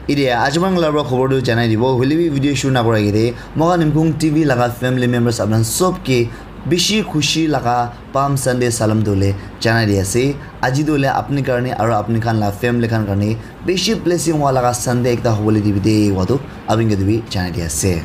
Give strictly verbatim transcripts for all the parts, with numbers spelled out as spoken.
Idia ajimang labra khobor tu janai dibo, hoile bi video shuru nakura agede, moikhan Yimkhiung T V laga family members apna sob ke bishi khushi laga Palm Sunday salam tu le janai di ase. Aji tu le apni karne aro apni khan la family khan karne bishi blessing wala laga Sunday ekta hobole dibi de wadu apni ke tu bi janai di ase.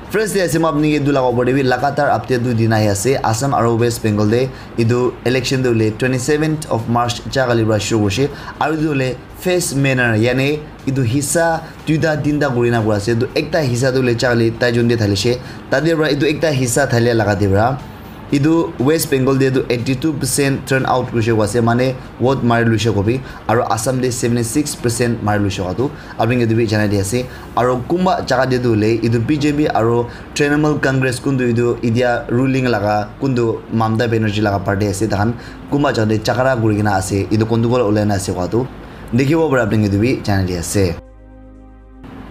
First day ase, ma apni ke etu laga opor te bi lagatar update tu dina ahi ase. Assam aro West Bengal te etu election tu hoile twenty seventh of March jaga kali pra shuru hoise. Aro etu hoile first manner, yani etu hissa duita tinta kuri na kura ase. Etu ekta hissa tu hoile jaga kali tai jun te thalishe. Tate pra etu ekta hissa thalia laga te pra etu West Bengal te tu eighty two percent turn out kurise koi ase, mane vote mari luise kobi, aro Assam te seventy six percent mari luise koa tu apni ke tu bi janai di ase. Aro kunba jaga te tu hoile etu B J P aro Trinamool Congress kuntu etu idia ruling laga kuntu Mamata Banerjee laga party ase, tahan kunba jaga te jhagara kuri kena ase, etu kondugol ulai na ase koa tu dikhibo para apni ke tu bi janai di ase.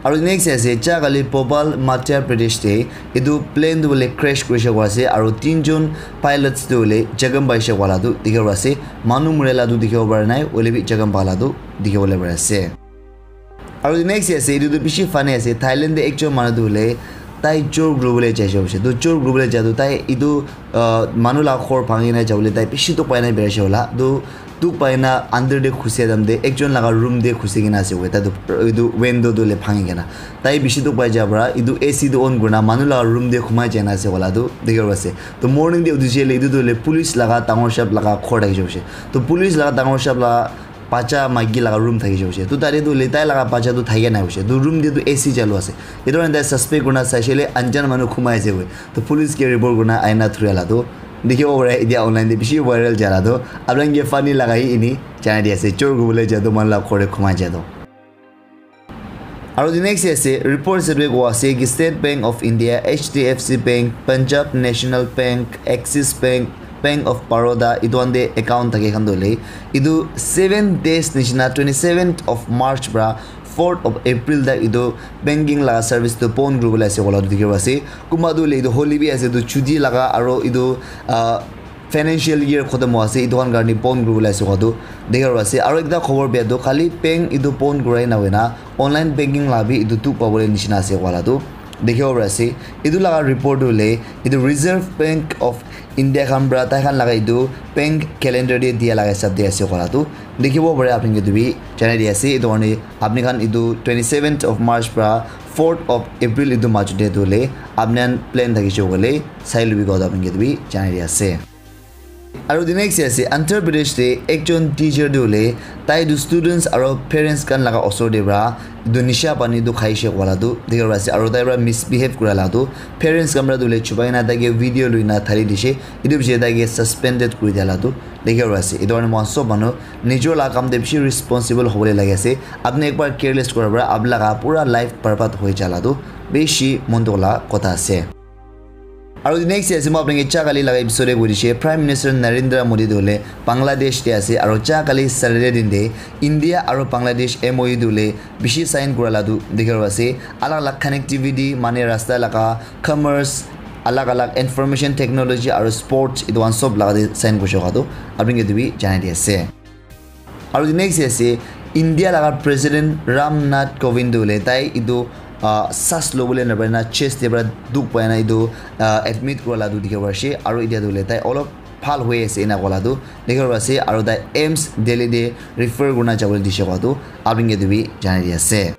Aro next ase, ja kali Bhopal, Madhya Pradesh te etu plane tu hoile crash kurise koa ase, aro tinjon pilots tu hoile jakham paise koa la tu dikhibo ase. Manu mura la tu dikhibo para nai, hoile bi jakham pa la tu dikhibo le pari ase. Aro next ase, etu tu bishi funny ase. Thailand te ekjon manu tu hoile tai chor kuribole jaise hoise. Tu chor kuribole ja tu tai etu, ah, manu la ghor bhangi na jabole tai bishi dukh pai na birai ase hola. Tu dukh pai na under te khusia time te ekjon laga room te khusi kena ase hoile. Tai tu etu window tu hoile bhangi kena. Tai bishi dukh pai ja para etu A C tu on kurina manu laga room te khumai jai na ase wala tu dikhibo ase. Tu morning te uthi jai le etu tu hoile police laga dangor shap laga ghor thaki jai ase. Tu police laga dangor shap laga bacha maiki laga room thaki jai ase. Tu tate tu hoile tai laga bacha tu thaki nai ase. Tu room te tu A C chalu ase. Etu karne tai suspect kurina sai shele anjan manu khumai ase koi. Tu police ke report kurina aina thuri la tu dikhibo pare, etia online te bishi viral jala tu, apni khan ke funny laga hi ini janai di ase, chor kuribole ja tu manu la ghor te khumai ja tu. Aro the next ase, report ase koa ase ki State Bank of India, H D F C Bank, Punjab National Bank, Axis Bank, Bank of Baroda, etu khan te account thake khan tu hoile etu seven days nishina, twenty seventh of March pra fourth of April tak etu banking laga service tu bon kuribole ase koa la tu dikhibo ase. Kunba tu hoile etu holiday bi ase, etu chuti laga aro etu, ah, financial year khotom howa ase, etu khan karne bon kuribole ase koa tu dikhibo ase. Aro ekta khobor bia tu khali bank etu bon kurai na hoina online banking la bi etu dukh pabole nishina ase koa la tu dikhibo pari ase. Etu laga report tu hoile etu Reserve Bank of India khan pra tai khan laga etu bank calendar te dia laga hisab te ase koa la tu dikhibo pare. Apni ke tu bi janai di ase. Etu karne apni khan etu twenty seventh of March pra fourth of April etu majot te tu hoile apni khan plan thakise koile sai lubi koa tu apni ke tu bi janai di ase. Aro the next ase, Andhra Pradesh te ekjon teacher tu hoile tai tu students aro parents khan laga osor te pra etu nisha pani tu khaise koa la tu dikhibo ase, aro tai pra misbehave kura la tu parents khan pra tu hoile chupai na tai ke video lui na thali dise, etu piche tai ke suspended kuri dia la tu dikhibo ase. Etu karne moikhan sob manu nijor la kam te bishi responsible hobole lage ase. Apni ekbar careless kura pra apni laga pura life barbad hoi ja la tu bishi mon dukh la kotha ase. Aro next ase, moi apni ke ja kali laga episode te koi dise, Prime Minister Narendra Modi tu hoile Bangladesh te ase, aro ja kali Saturday din te India aro Bangladesh M O U tu hoile bishi sign kura la tu dikhibo ase. Alag alag connectivity, mane rasta laga, commerce, alag alag information technology aro sports, etu khan sob laga te sign kurise koa tu apni ke tu bi janai di ase. Aro the next ase, India laga President Ram Nath Kovind tu hoile tai etu, ah, saas lobole napaina chest te pra dukh paina etu, ah, admit kura la tu dikhibo pari ase. Aro etia tu hoile tai olop bhal hoi ase ena koa la tu dikhibo pari ase. Aro tai AIIMS Delhi te refer kurina jabole dise koa tu apni ke tu bi janai di ase.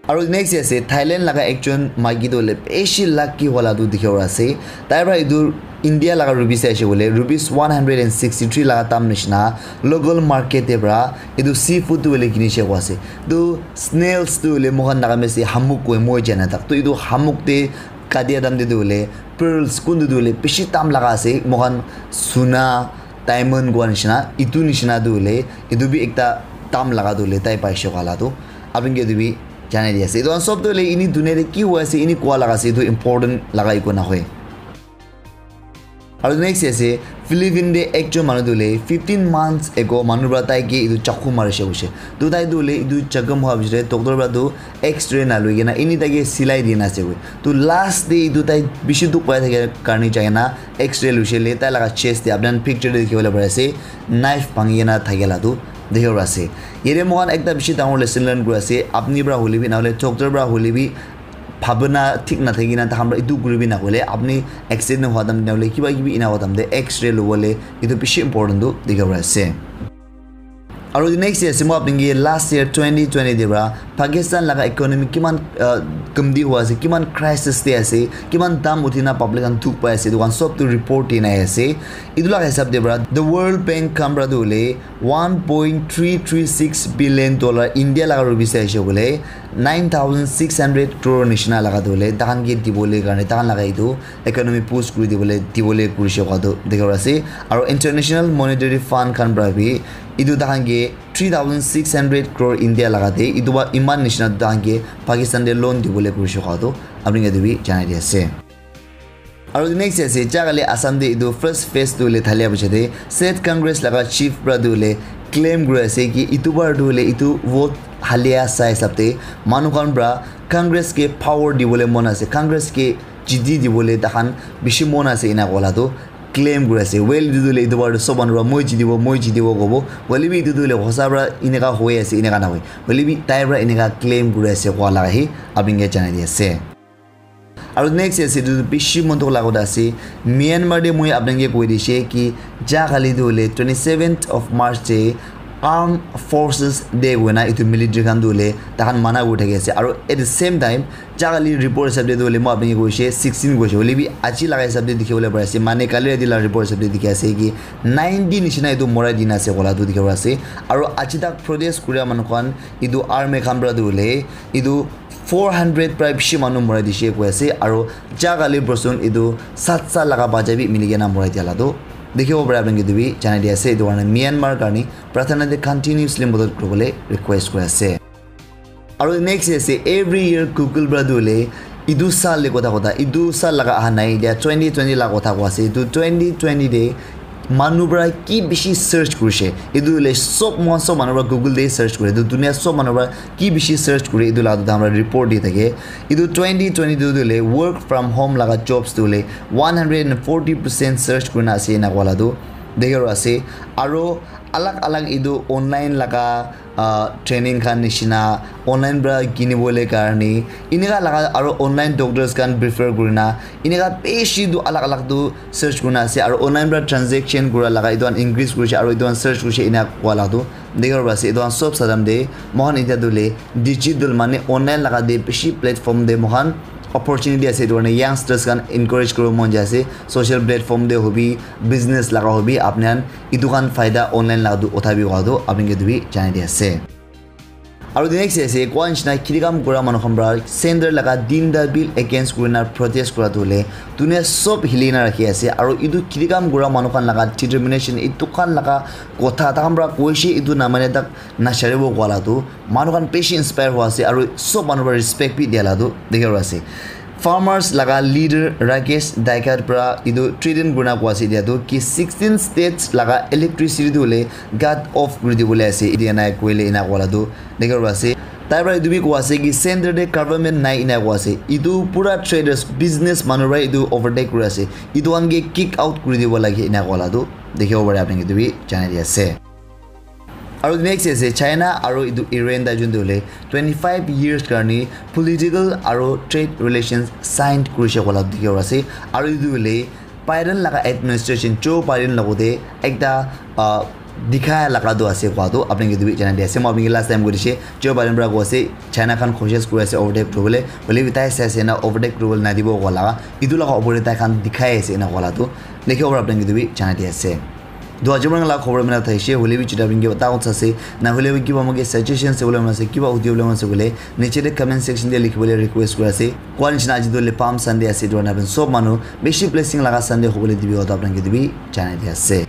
Aro next ase, Thailand laga ekjon maiki tu hoile bishi lucky wala tu dikhibo ase. Tai pra etu India laga rupees te aise koile rupees one hundred and sixty three laga dam nishina local market te pra etu seafood tu hoile kinishe koa ase. Tu snails tu hoile moikhan Nagamese te hamuk koi, moi jana tak. Tu etu hamuk te katia dam te tu hoile pearls kuntu tu hoile bishi dam laga ase. Moikhan suna, diamond kua nishina, etu nishina tu hoile, etu bi ekta dam laga tu hoile tai paise koa la tu. Apni ke tu bi janai di ase. Etu khan sob tu hoile ini dunia te ki hoi ase, ini kua laga ase, etu important laga eku nahoi. Aro next ase, Philippine te ekjon manu tu hoile fifteen months ago manu pra tai ke etu chaku marise koise. Tu tai tu hoile etu chaku mara piche te doctor pra tu X-ray naloi kena ini tai ke silai dina ase koi. Tu last te etu tai bishi dukh pai thake karne jai kena X-ray loise le tai laga chest te apni khan picture te dikhi bole pari ase knife bhangi kena thake la tu Dikhibo ase. Yate moikhan ekta bishi dangor lesson learn kuri ase. Apni pra hoile bi, nahole doctor pra hoile bi, bhabna thik nathakina takhan pra etu kuribi nahoile, apni accident hua time te nahole kiba kibi ena hua time te X-ray lobole etu bishi important tu dikhibo ase. Aru next year ase, moi apni ke last year twenty twenty te pra Pakistan laga economy kiman, uh, kamti hua ase, kiman crisis te ase, kiman dam uthina public khan dukh pai ase, etu khan sob tu report dina ase. Etu laga hisab te pra the World Bank khan pra tu hoile one point three three six billion dollar India laga rupees te aise koile nine thousand six hundred crore nishina laga tu hoile takhan ke dibole karne takhan laga etu economy boost kuri dibole dibole kurishe koa tu dikhibo ase. Aru International Monetary Fund khan pra bi etu takhan ke three thousand six hundred crore India laga te etu ba iman nishina takhan ke Pakistan te loan dibole kurishe koa tu apni ke etu bi janai di ase. Aru next ase, ja kali Assam te etu first phase tu hoile thalia piche te State Congress laga chief pra tu hoile claim kuri ase ki etu bar tu hoile etu vote halia sai hisab te manu khan pra Congress ke power dibole mon ase, Congress ke jiti dibole takhan bishi mon ase ena kola tu claim kuri ase. Well, etu tu hoile etu bar tu sob manu pra moi jitibo, moi jitibo kobo. Hoile bi etu tu hoile hosa pra eneka hoi ase, eneka nahoi. Hoile bi tai pra eneka claim kuri ase koa laga hi apni ke janai di ase. Aru next ase, etu tu bishi mon dukh laga kotha ase. Myanmar te moi apni ke koi dishe ki ja kali tu hoile twenty seventh of March te Armed Forces Day hoina etu military khan tu hoile takhan mana kuri thaki ase. Aru at the same time, ja kali report hisab te tu hoile moi apni ke koishe sixteen koishe. Hoile bi aji laga hisab te dikhi bole pari ase. Mane kali rati laga report hisab te dikhi ase ki ninety nishina etu morai dina ase kola tu dikhi bole ase. Aru aji tak protest kuria manu khan etu army khan pra tu hoile etu four hundred pra bishi manu morai dishe koi ase, aru ja kali person etu sat sat laga bacha bi mili kena morai dia la tu dikhibo pare apni ke etu bi janai di ase. Etu karne Myanmar karne prathana te continuously modot kuribole request kuri ase. Aru next ase, every year Google pra tu hoile etu sal te kotha kotha, etu sal laga aha nai, etia twenty twenty laga kotha koi ase, etu twenty twenty te manu pra ki bishi search kurishe, etu hoile sob moikhan sob manu pra Google te search kure, etu dunia sob manu pra ki bishi search kure, etu laga tu tahan pra report di thake. Etu twenty twenty two tu hoile work from home laga jobs tu hoile one hundred and forty percent search kurina ase ena koa la tu dikhi ase. Aru alag alag etu online laga, ah, training khan nishina online pra kinibole karne eneka laga aru online doctors khan prefer kurina eneka bishi tu alag alag tu search kurina ase aru online pra transaction kura laga etu khan increase kurishe aru etu khan search kurishe ena koa la tu dikhibo pari ase. Etu khan sob sadam te moikhan etia tu hoile digital mane online laga te bishi platform te moikhan opportunity ase. Etu karne youngsters khan encourage kuribo mon jai ase, social platform te hobi, business laga hobi, apni khan etu khan faida online laga tu uthabi koa tu apni ke etu bi janai di ase. Aru the next ase, koa nishina khiti kam kura manu khan pra center laga tinta bill against kurina protest kura tu hoile dunia sob hili na rakhi ase. Aru etu khiti kam kura manu khan laga determination, etu khan laga kotha takhan pra koishe etu namane tak nacharibo koa la tu manu khan bishi inspire hua ase aru sob manu pra respect bi dia la tu dikhibo ase. Farmers laga leader Rakesh Daikat pra etu threaten kurina koa ase etia tu ki sixteen states laga electricity tu hoile cut off kuri dibole ase, etia nai koile ena koa la tu dikhibo ase. Tai pra etu bi koa ase ki center te government nai ena koa ase. Etu pura traders, business manu pra etu overtake kuri ase. Etu khan ke kick out kuri dibo lage ena koa la tu dikhibo pare apni ke etu bi janai di ase. Aru next ase China aru etu Iran tai jun tu hoile twenty five years karne political aru trade relations signed kurishe koa la dikhibo ase. Aru etu hoile Biden laga administration, Joe Biden logote ekta, ah, dikhai laga tu ase koa tu apni ke etu bi janai di ase. Moi apni ke last time koi dishe Joe Biden pra koa ase China khan koshish kuri ase overtake kuribole, hoile bi tai sai ase na overtake kuribole nadibo koa laga etu laga opor te tai khan dikhai ase ena koa la tu dikhibo pare apni ke etu bi janai di ase. Dua jibran la khobor mina thaishe, hoile bi chita bingi ta utsa ase, na hoile bi kiba moke suggestion se bole mase, kiba audio bole mase bole, niche te comment section te likhi bole request kuri ase. Koa nishina aji tu hoile Palm Sunday ase, etu karne apni sob manu bishi blessing laga Sunday hobole dibi, etu apni ke etu bi janai di ase.